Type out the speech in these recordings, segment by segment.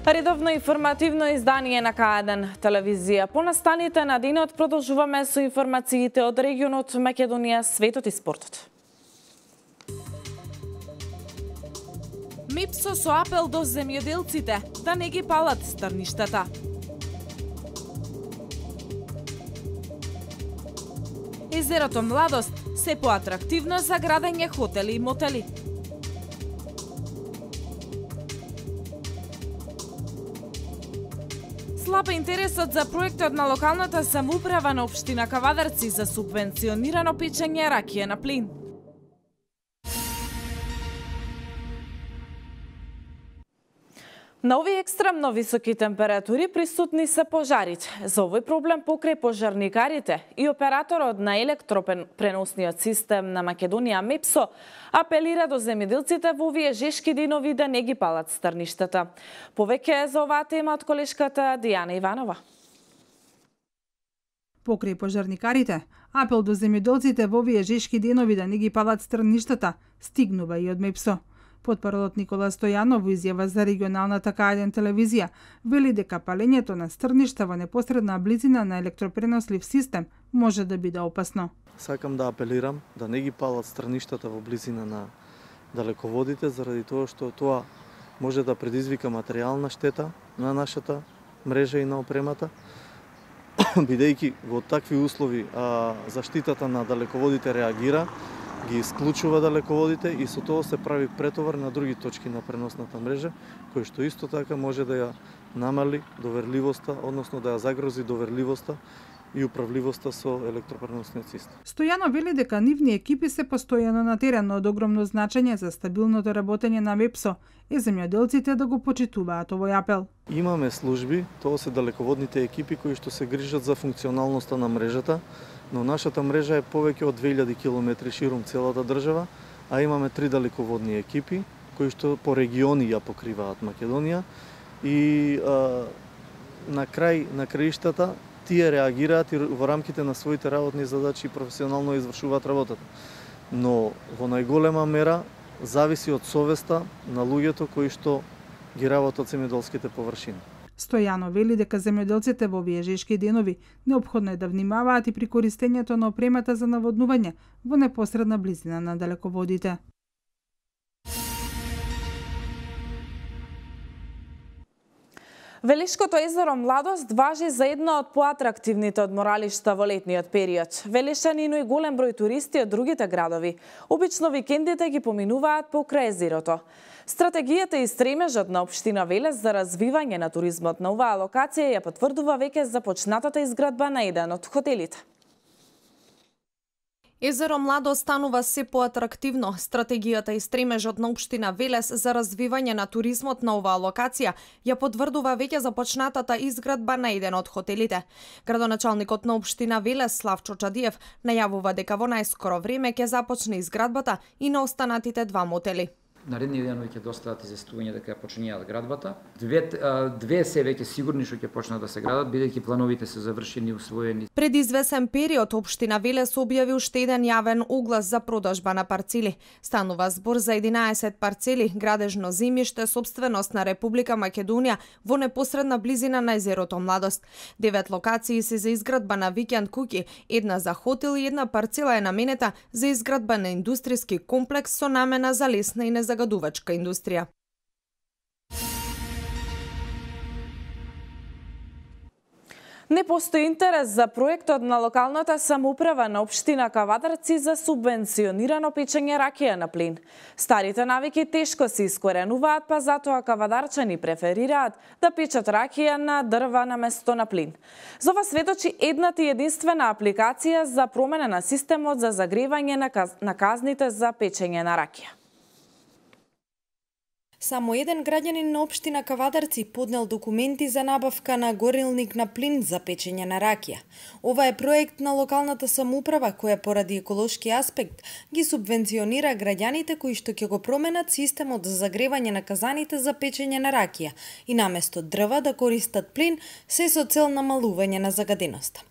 Редовно информативно издание на К1 телевизија. По настаните на денот продолжуваме со информациите од регионот Македонија, светот и спортот. МИПСО со апел до земјоделците да не ги палат стрништата. Езерото Младост се поатрактивно за градење хотели и мотели. Слаб интересот за проектот на локалната самоуправа на општина Кавадарци за субвенционирано печење ракија на плин. На овие екстремно високи температури присутни се пожарите. За овој проблем покрај пожарникарите и операторот на електропреносниот систем на Македонија МИПСО апелира до земјоделците во овие жешки денови да не ги палат стрништата. Повеќе за оваа тема од колешката Дијана Иванова. Покрај пожарникарите, апел до земјоделците во овие жешки денови да не ги палат стрништата стигнува и од МИПСО. Потпаролот Никола Стојанов во изјава за регионалната К1 телевизија вели дека палењето на стрништа во непосредна близина на електропренослив систем може да биде опасно. Сакам да апелирам да не ги палат стрништата во близина на далеководите заради тоа што тоа може да предизвика материјална штета на нашата мрежа и на опремата, бидејќи во такви услови заштитата на далеководите реагира, ги исклучува далеководите и со тоа се прави претовар на други точки на преносната мрежа, кој што исто така може да ја намали доверливоста, односно да ја загрози доверливоста и управливоста со електропреносниот систем. Стојано вели дека нивни екипи се постојано на терен, од огромно значење за стабилното работење на МИПСО и земјоделците да го почитуваат овој апел. Имаме служби, тоа се далеководните екипи кои што се грижат за функционалноста на мрежата, но нашата мрежа е повеќе од 2000 км ширум целата држава, а имаме 3 далеководни екипи кои што по региони ја покриваат Македонија и на краиштата тие реагираат и во рамките на своите работни задачи професионално извршуваат работата. Но во најголема мера зависи од совеста на луѓето кои што ги работат земјоделските површини. Стојано вели дека земјоделците во овие жешки денови неопходно е да внимаваат и при користењето на опремата за наводнување во непосредна близина на далеководите. Велишкото езеро Младост важи за едно од поатрактивните одморалишта во летниот период. Велишани и голем број туристи од другите градови. Обично викендите ги поминуваат покрај езерото. Стратегијата и стремежот на општина Велес за развивање на туризмот на оваа локација ја потврдува веќе започнатата изградба на еден од хотелите. Езеро Младост станува се поатрактивно. Стратегијата и стремежот на општина Велес за развивање на туризмот на оваа локација ја потврдува веќе започнатата изградба на еден од хотелите. Градоначалникот на општина Велес Славчо Чадиев најавува дека во најскоро време ќе започне изградбата и на останатите 2 мотели. Наредни денови ќе достават известување дека ја почињаат градбата. Две се веќе сигурни што ќе почнат да се градат, бидејќи плановите се завршени и усвоени. Пред извесен период општина Велес објави уште еден јавен оглас за продажба на парцели. Станува збор за 11 парцели градежно земјиште сопственост на Република Македонија во непосредна близина на езерото Младост. 9 локации се за изградба на викенд куќи, една за хотел и една парцела е наменета за изградба на индустријски комплекс со намена за лесна и загадувачка индустрија. Не постои интерес за проектот на локалната самоуправа на општина Кавадарци за субвенционирано печење ракија на плин. Старите навики тешко се искоренуваат, па затоа кавадарчани преферираат да печат ракија на дрва на место на плин. За ова сведочи едната и единствена апликација за промена на системот за загревање на казните за печење на ракија. Само еден граѓанин на општина Кавадарци поднел документи за набавка на горилник на плин за печење на ракија. Ова е проект на локалната самоуправа која поради еколошки аспект ги субвенционира граѓаните кои што ќе го променат системот за загревање на казаните за печење на ракија и наместо дрва да користат плин, се со цел намалување на загаденоста.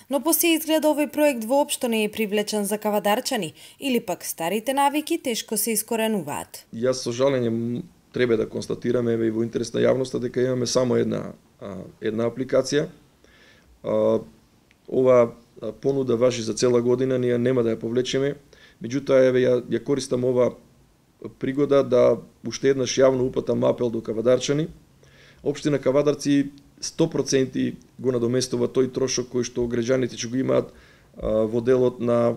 Но по се изгледа овој проект воопшто не е привлечен за кавадарчани или пак старите навики тешко се искоренуваат. Јас со жалење треба да констатираме и во интерес на јавноста дека имаме само една апликација. Ова понуда важи за цела година, ние нема да ја повлечеме. Меѓутоа, ја користам ова пригода да уште еднаш јавно упатам апел до кавадарчани. Општина Кавадарци 100% го надоместува тој трошок кој што граѓаните ќе го имаат во делот на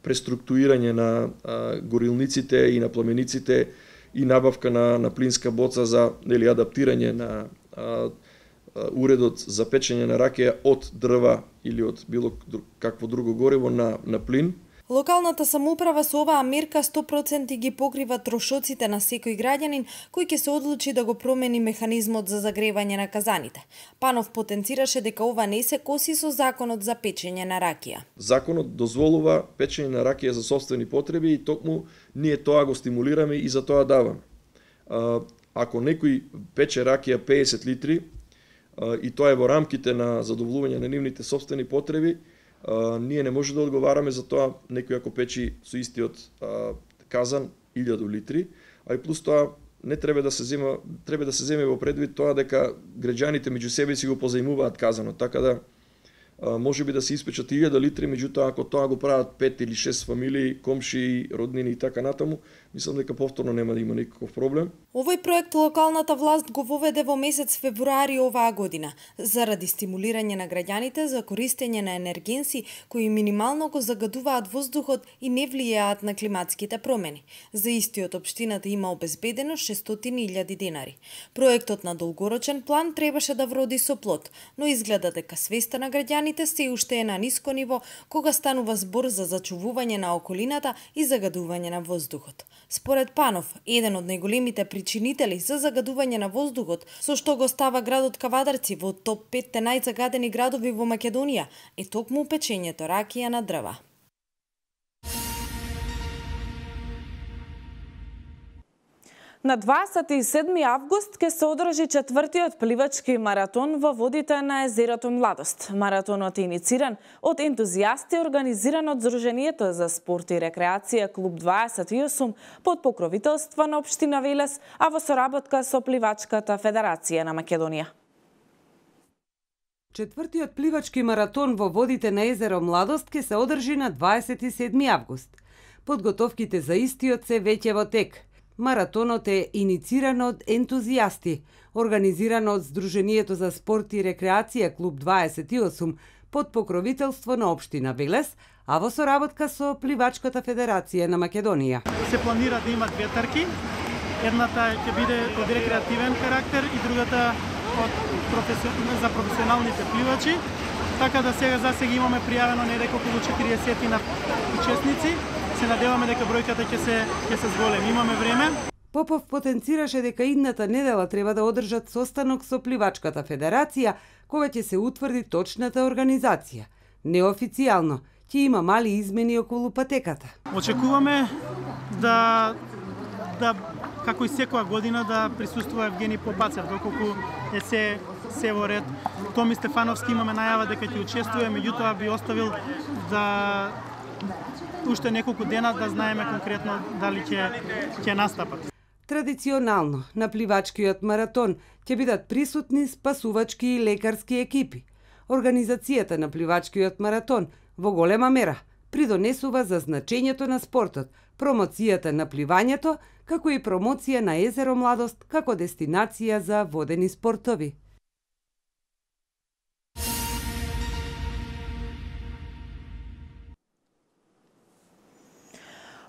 преструктурирање на горилниците и на пламениците и набавка на плинска боца за адаптирање на уредот за печење на ракија од дрва или од било какво друго гориво на плин. Локалната самоуправа со оваа мерка 100% ги покрива трошоците на секој граѓанин кој ќе се одлучи да го промени механизмот за загревање на казаните. Панов потенцираше дека ова не се коси со законот за печење на ракија. Законот дозволува печење на ракија за сопствени потреби и токму ние тоа го стимулираме и за тоа даваме. Ако некој пече ракија 50 литри и тоа е во рамките на задоволување на нивните сопствени потреби, ние не може да одговараме за тоа некој ако печи со истиот казан 1000 литри, а и плюс тоа не треба да се земе во предвид тоа дека граѓаните меѓу себе си го позаимуваат казанот, така да може би да се испечат 1000 литри, меѓутоа ако тоа го прават 5 или 6 фамилии, комши, роднини и така натаму, мислам дека повторно нема да има никаков проблем. Овој проект локалната власт го воведе во месец февруари оваа година заради стимулирање на граѓаните за користење на енергенси кои минимално го загадуваат воздухот и не влијаат на климатските промени. За истиот општината има обезбедено 600.000 денари. Проектот на долгорочен план требаше да вроди со плод, но изгледа дека свеста на граѓаните се уште е на ниско ниво кога станува збор за зачувување на околината и загадување на воздухот. Според Панов, еден од најголемите причинители за загадување на воздухот, со што го става градот Кавадарци во топ 5 најзагадени градови во Македонија, е токму печењето ракија на дрва. На 27 август ќе се одржи 4-тиот пливачки маратон во водите на езерото Младост. Маратонот е инициран од ентузијасти, организиран од Сдруженијето за спорт и рекреација Клуб 28 под покровителство на општина Велес, а во соработка со Пливачката федерација на Македонија. 4-тиот пливачки маратон во водите на езеро Младост ќе се одржи на 27 август. Подготовките за истиот се веќе во тек. Маратонот е инициран од ентузијасти, организиран од Сдруженијето за спорт и рекреација Клуб 28 под покровителство на општина Велес, а во соработка со Пливачката федерација на Македонија. Се планира да има две трки. Едната ќе биде од рекреативен карактер и другата за професионалните пливачи. Така да сега имаме пријавено недека околу 40 на учесници. Се надеваме дека бројката ќе се зголеми. Имаме време. Попов потенцираше дека идната недела треба да одржат состанок со Пливачката федерација, кога ќе се утврди точната организација. Неофицијално ќе има мали измени околу патеката. Очекуваме да како и секоја година да присуствува Евгени Попацев, доколку е се во ред. Томи Стефановски имаме најава дека ќе учествува, меѓутоа би оставил да уште неколку дена да знаеме конкретно дали ќе настапат. Традиционално на пливачкиот маратон ќе бидат присутни спасувачки и лекарски екипи. Организацијата на пливачкиот маратон во голема мера придонесува за значењето на спортот, промоцијата на пливањето, како и промоција на езеро Младост како дестинација за водени спортови.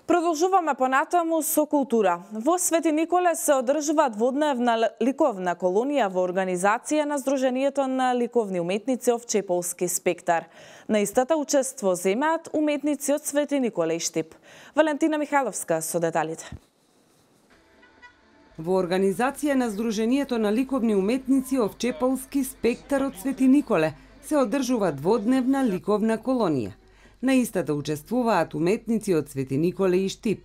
Продолжуваме понатаму со култура. Во Свети Николе се одржува дводневна ликовна колонија во организација на Сдруженијето на ликовни уметници Овчеполски спектар. На истата учество земаат уметници од Свети Николе и Штип. Валентина Михайловска со деталите. Во организација на Сдруженијето на ликовни уметници Овчеполски спектар од Свети Николе се одржува дводневна ликовна колонија. На истата учествуваат уметници од Свети Николе и Штип.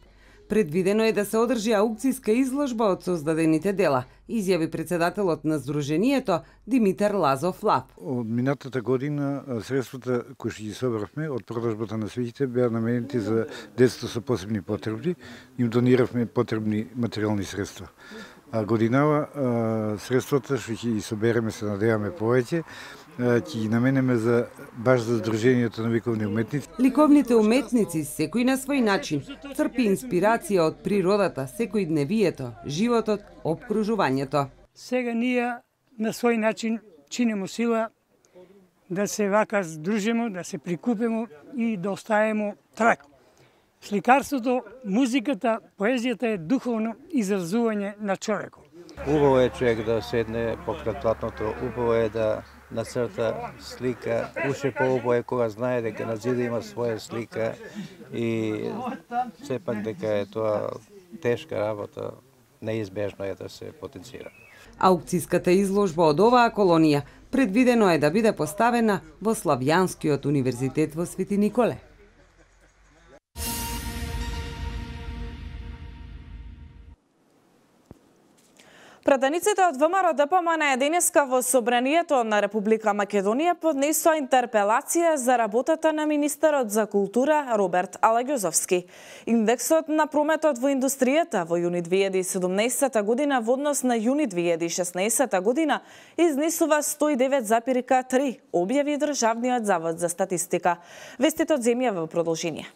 Предвидено е да се одржи аукцијска изложба од создадените дела, изјави председателот на Сдруженијето Димитар Лазов Лап. Од минатата година средствата кои што ги собравме од продажбата на свиќите беа наменети за децата со посебни потребни, им дониравме потребни материјални средства. А годинава средствата што ќе ги собереме, се надеваме повеќе, ќе ги наменеме баш за Сдруженијето на ликовни уметници. Ликовните уметници секој на свој начин црпи инспирација од природата, секојдневието, животот, опкружувањето. Сега ние на свој начин чинимо сила да се вака здружимо, да се прикупимо и да оставимо трак. Сликарството, музиката, поезијата е духовно изразување на човекот. Убаво е човек да седне покрај платното, убаво е да нацрта слика, уште поубаво е кога знае дека на зида има своја слика и сепак дека е тоа тешка работа, неизбежно е да се потенцира. Аукцијската изложба од оваа колонија предвидено е да биде поставена во Славјанскиот универзитет во Свети Николе. Пратениците од ВМРО ДПМН денеска во Собранието на Република Македонија поднесоа интерпелација за работата на министерот за култура Роберт Алагјозовски. Индексот на прометот во индустријата во јуни 2017 година во однос на јуни 2016 година изнесува 109,3, објави Државниот завод за статистика. Вестите од земја во продолжение.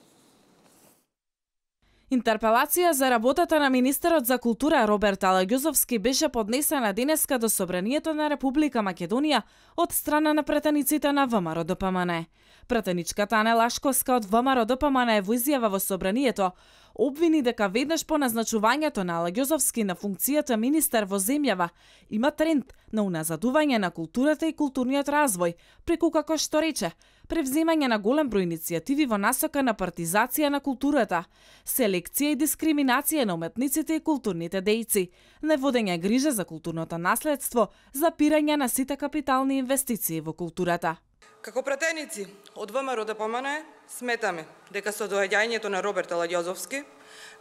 Интерпелација за работата на министерот за култура Роберт Алагјозовски беше поднесена денеска до Собранието на Република Македонија од страна на пратениците на ВМРО ДПМН. Пратеничката Ане Лашковска од ВМРО ДПМН во изјава во Собранието обвини дека веднаш по назначувањето на Алагјозовски на функцијата министер во земјава има тренд на уназадување на културата и културниот развој, преку, како што рече, превземање на голем број иницијативи во насока на партизација на културата, селекција и дискриминација на уметниците и културните дејци, неводење грижа за културното наследство, запирање на сите капитални инвестиции во културата. Како пратеници од ВМРО ДПМН сметаме дека со доаѓањето на Роберт Алагјозовски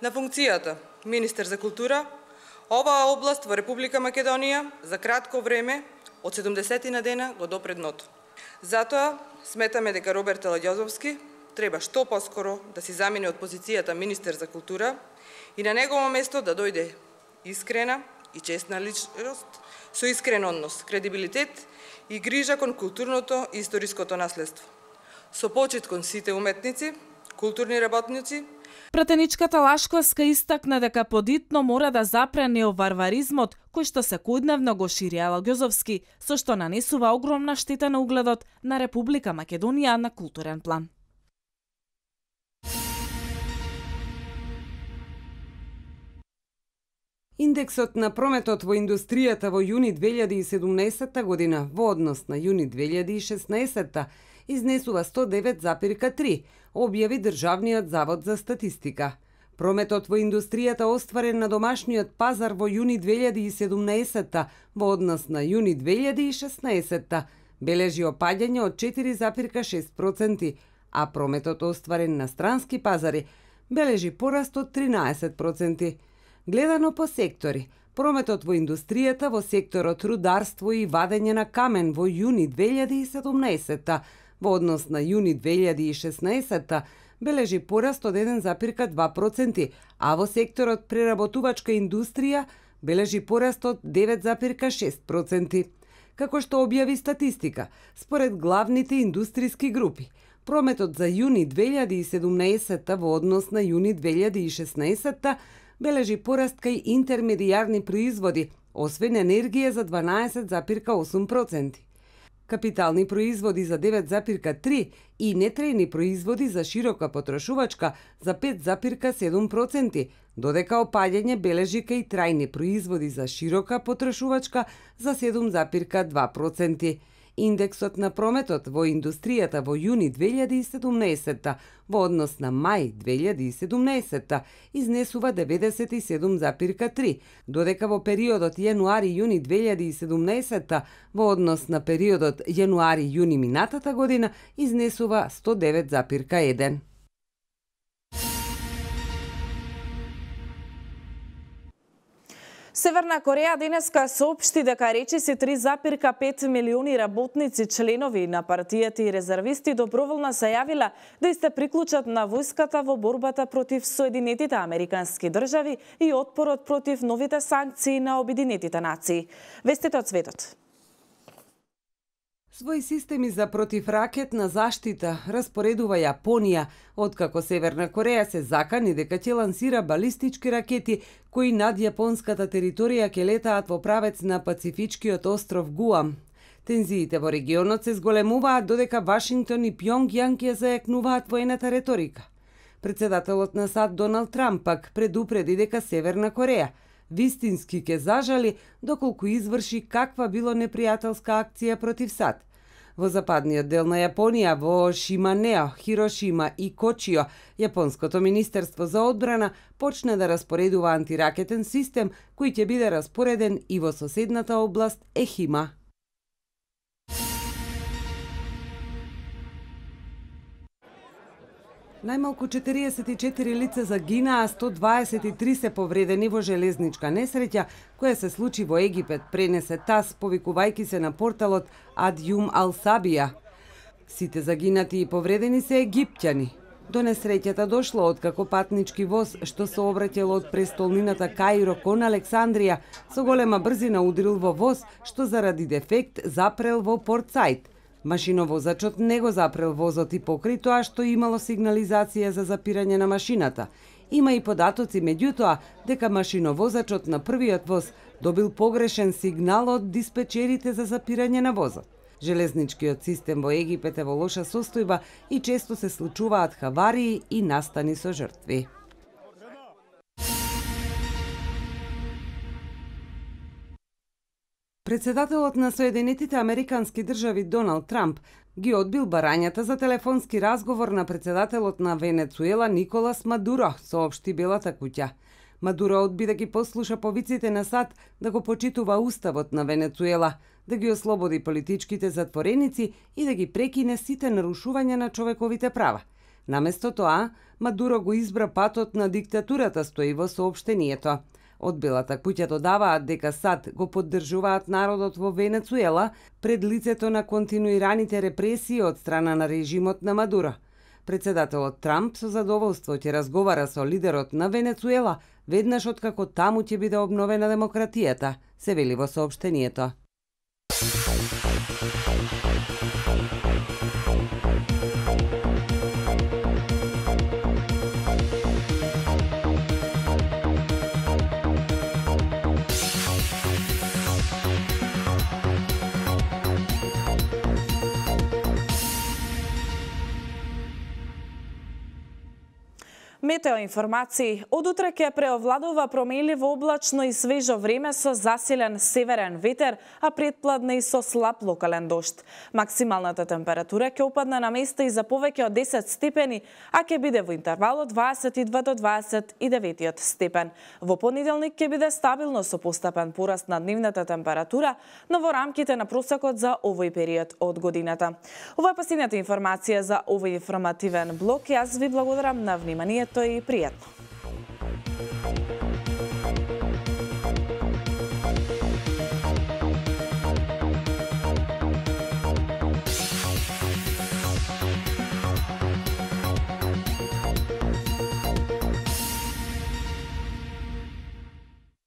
на функцијата министер за култура, оваа област во Република Македонија за кратко време од 70 на дена го допре дното. Затоа сметаме дека Роберт Алагјозовски треба што поскоро да си замине од позицијата министер за култура и на негово место да дојде искрена и честна личност со искрен однос, кредибилитет и грижа кон културното и историското наследство. Со почит кон сите уметници, културни работници. Пратеничката Лашковска истакна дека подитно мора да запре неоварваризмот кој што секојдневно го шири Алагјозовски, со што нанесува огромна штета на угледот на Република Македонија на културен план. Индексот на прометот во индустријата во јуни 2017 година во однос на јуни 2016 изнесува 109,3, објави Државниот завод за статистика. Прометот во индустријата остварен на домашниот пазар во јуни 2017 во однос на јуни 2016 бележи опаѓање од 4,6%, а прометот остварен на странски пазари бележи пораст од 13%. Гледано по сектори, прометот во индустријата во секторот рударство и вадење на камен во јуни 2017 во однос на јуни 2016 бележи пораст од 1,2%, а во секторот преработувачка индустрија бележи пораст од 9,6%. Како што објави статистика, според главните индустријски групи, прометот за јуни 2017 во однос на јуни 2016 бележи пораст кај интермедијарни производи, освен енергија за 12,8%. Капитални производи за 9,3% и нетрејни производи за широка потрошувачка за 5,7%, додека опаѓање бележи кај трајни производи за широка потрошувачка за 7,2%. Индексот на прометот во индустријата во јуни 2017 во однос на мај 2017 изнесува 97,3, додека во периодот јануари-јуни 2017 во однос на периодот јануари-јуни минатата година изнесува 109,1. Северна Кореја денеска соопшти дека речиси 3,5 милиони работници, членови на партијата и резервисти доброволно се јавила да се приклучат на војската во борбата против Соединетите Американски држави и отпорот против новите санкции на Обединетите нации. Вестите од светот. Своји системи за противракетна заштита распоредува Јапонија, откако Северна Кореја се закани дека ќе лансира балистички ракети кои над јапонската територија ќе летаат во правец на Пацифичкиот остров Гуам. Тензиите во регионот се зголемуваат додека Вашингтон и Пјонгјанг ја зајакнуваат воената реторика. Председателот на САД Доналд Трамп пак предупреди дека Северна Кореја вистински ќе зажали доколку изврши каква било непријателска акција против САД. Во западниот дел на Јапонија, во Шиманео, Хирошима и Кочио, Јапонското министерство за одбрана почна да распоредува антиракетен систем кој ќе биде распореден и во соседната област Ехима. Најмалку 44 лица загинаа, 123 се повредени во железничка несреќа која се случи во Египет, пренесе ТАС, повикувајќи се на порталот Адјум Ал-Сабија. Сите загинати и повредени се египтјани. До несреќата дошло откако патнички воз што се обраќал од престолнината Каиро кон Александрија со голема брзина удрил во воз што заради дефект запрел во Порт Саид. Машиновозачот не го запрел возот и покрај тоа што имало сигнализација за запирање на машината. Има и податоци меѓутоа дека машиновозачот на првиот воз добил погрешен сигнал од диспечерите за запирање на возот. Железничкиот систем во Египет е во лоша состојба и често се случуваат хаварии и настани со жртви. Председателот на Соединетите Американски држави Доналд Трамп ги одбил барањата за телефонски разговор на председателот на Венецуела Николас Мадуро, соопшти Белата куќа. Мадуро одби да ги послуша повиците на САД да го почитува уставот на Венецуела, да ги ослободи политичките затвореници и да ги прекине сите нарушувања на човековите права. Наместо тоа, Мадуро го избра патот на диктатурата, стои во соопштението. Од Белата куќа додаваат дека САД го поддржуваат народот во Венецуела пред лицето на континуираните репресии од страна на режимот на Мадуро. Председателот Трамп со задоволство ќе разговара со лидерот на Венецуела веднаш откако таму ќе биде обновена демократијата, се вели во соопштението. Метео информации. Од утре ќе преовладува променливо облачно и свежо време со засилен северен ветер, а предпладне и со слаб локален дожд. Максималната температура ќе опадне на места и за повеќе од 10 степени, а ќе биде во интервал од 22 до 29 степен. Во понеделник ќе биде стабилно со постепен пораст на дневната температура, но во рамките на просекот за овој период од годината. Ова е последната информација за овој информативен блок. Јас ви благодарам на вниманието и пријатно.